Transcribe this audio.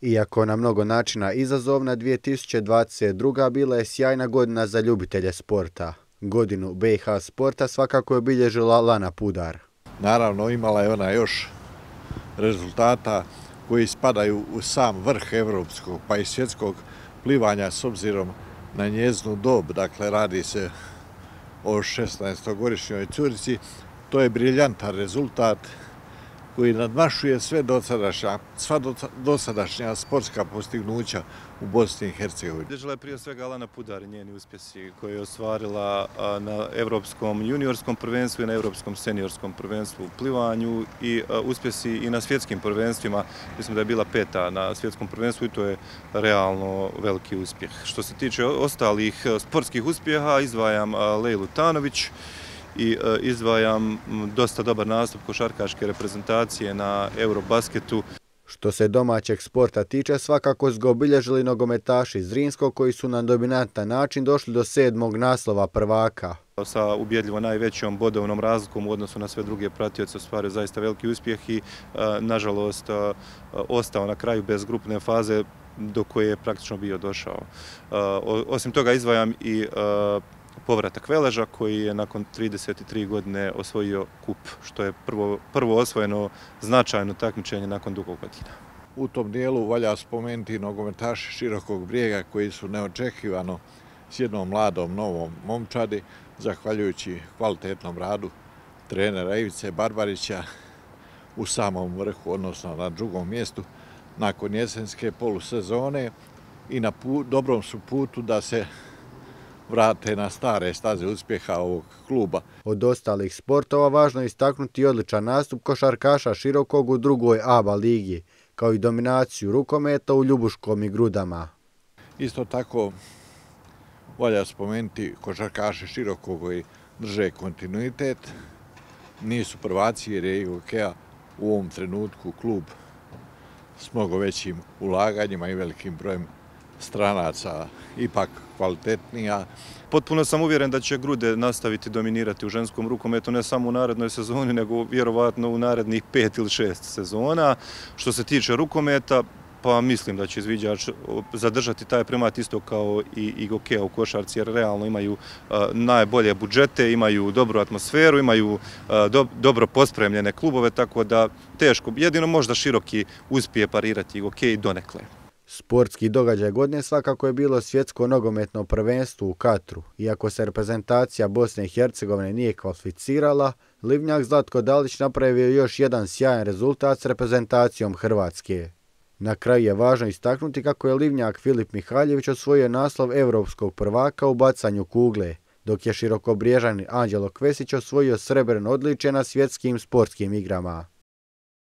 Iako na mnogo načina izazovna, 2022. bila je sjajna godina za ljubitelje sporta. Godinu BiH sporta svakako je obilježila Lana Pudar. Naravno, imala je ona još rezultata koji spadaju u sam vrh evropskog pa i svjetskog plivanja s obzirom na njezinu dob. Dakle, radi se o 16-godišnjoj curici. To je briljantan rezultat koji nadmašuje sva dosadašnja sportska postignuća u Bosni i Hercegovini. Obilježila je prije svega Lana Pudar i njeni uspjesi koje je ostvarila na Evropskom juniorskom prvenstvu i na Evropskom seniorskom prvenstvu u plivanju i uspjesi i na svjetskim prvenstvima. Mislim da je bila 5. na svjetskom prvenstvu i to je realno veliki uspjeh. Što se tiče ostalih sportskih uspjeha, izdvajam Lejlu Tanović i izdvajam dosta dobar nastup košarkaške reprezentacije na Eurobasketu. Što se domaćeg sporta tiče, svakako su ga obilježili nogometaši Zrinskog koji su na dominantan način došli do 7. naslova prvaka. Sa ubjedljivo najvećom bodovnom razlikom u odnosu na sve druge pratioce ostvario zaista veliki uspjeh i nažalost ostao na kraju bez grupne faze do koje je praktično bio došao. Osim toga izdvajam i povratak Veleža koji je nakon 33 godine osvojio kup, što je prvo osvojeno značajno takmičenje nakon dugo godina. U tom dijelu valja spomenuti nogometaši Širokog Brijega koji su neočekivano s jednom mladom novom momčadi, zahvaljujući kvalitetnom radu trenera Ivice Barbarića u samom vrhu, odnosno na drugom mjestu nakon jesenske polusezone i na dobrom su putu da se vrate na stare staze uspjeha ovog kluba. Od ostalih sportova važno je istaknuti odličan nastup košarkaša Širokog u drugoj ABA ligi, kao i dominaciju rukometa u ljubuškom i grudama. Isto tako valja spomenuti košarkaše Širokog koji drže kontinuitet. Nisu prvaci jer je IGOK-a u ovom trenutku klub s mnogo većim ulaganjima i velikim brojem stranaca ipak kvalitetnija. Potpuno sam uvjeren da će Grude nastaviti dominirati u ženskom rukometu ne samo u narednoj sezoni, nego vjerovatno u narednih 5 ili 6 sezona. Što se tiče rukometa, pa mislim da će izviđač zadržati taj primat isto kao i IGOK-a u košarci, jer realno imaju najbolje budžete, imaju dobru atmosferu, imaju dobro pospremljene klubove, tako da teško, jedino možda Široki uspije parirati IGOK i donekle. Sportski događaj godine svakako je bilo svjetsko nogometno prvenstvo u Katru. Iako se reprezentacija Bosne i Hercegovine nije kvalificirala, Livnjak Zlatko Dalić napravio još jedan sjajan rezultat s reprezentacijom Hrvatske. Na kraju je važno istaknuti kako je Livnjak Filip Mihaljević osvojio naslov evropskog prvaka u bacanju kugle, dok je Širokobriježanin Anđelo Kvesić osvojio srebrno odličje na svjetskim sportskim igrama.